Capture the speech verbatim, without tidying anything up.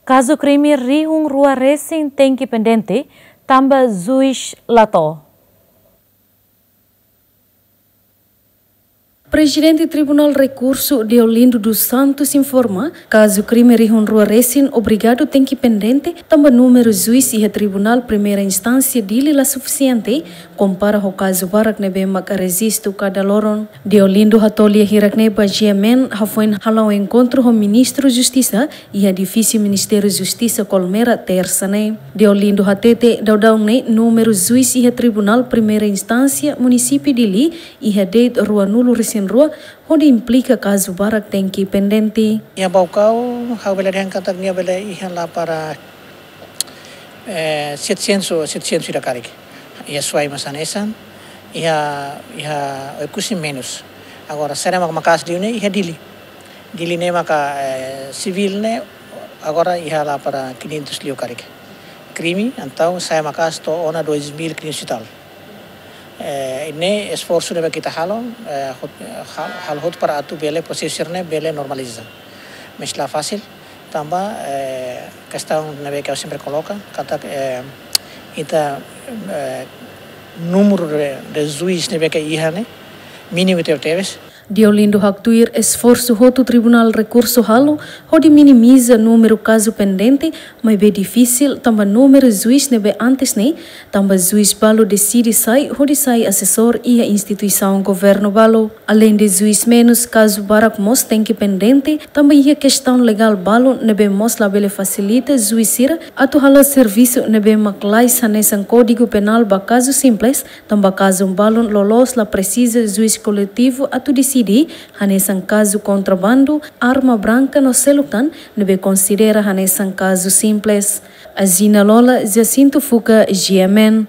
Kazu krime rihun rua resin tenke pendente, tanba juís la to'o. Prezidente Tribunál Rekursu Deolindo dos Santos informa, kazu krime rihun rua resin obrigadu tenke pendente, tanba númeru juís iha Tribunál Primeira Instánsia Dili la sufisiente, kompara ho kazu barak ne'ebé maka rejistu kada loron. Deolindo hato'o lia hirak ne'e ba GMN, hafoin hala'o enkontru ho Ministru Justisa iha edifísiu Ministériu Justisa Colmera, Tersa ne'e. Deolindo hatete, daudaun ne'e númeru juís iha Tribunál Primeira Instánsia Munisípiu Dili iha de'it ruanulu resin rua, hodi implika kazu barak tenke pendente. Iha Baucau, ha'u bele dehan katak nia bele iha la para, eh, setecentos, setecentos ida karik. Iha Suai mós hanesan, iha, iha Oekusi menus. Agora, sira mak maka'as liu ne'e iha Dili. Dili ne'e maka, eh, sivíl ne'e, agora iha la para quinhentos liu karik. Krime, entaun, sira maka'as to'o ona dois mil quinhentos e tal. Eh, ne'e esforsu ne'ebé ita halo, eh, hot-, hal-, halo hotu para atu bele prosesu sira-ne'e bele normaliza. Mas la fasil, tanba, eh, kestaun ne'ebé ha'u sempre koloka, katak, eh, ita, eh, númeru de, de juís ne'ebé iha ne'e, mínimu tebetebes. Deolindo haktuir esforsu hotu Tribunál Rekursu halo, hodi minimiza númeru kazu pendente, maibé difisil tanba númeru juís ne'ebé antes ne'e, tanba juís balu deside sai, hodi sai asesór iha instituisaun governu balu. Aleinde juís menus, kazu barak mós tenke pendente, tanba iha kestaun legál balu ne'ebé mós labele fasilita juís sira atu hala'o servisu ne'ebé mak lais hanesan Kódigu Penál ba kazu simples, tanba kazu balun loloos la presiza juís koletivu atu deside, hanesan kazu kontrabandu, arma branka no seluk tan, ne'ebé konsidera hanesan kazu simples. Azina Lola, Jacinto Fuca, GMN.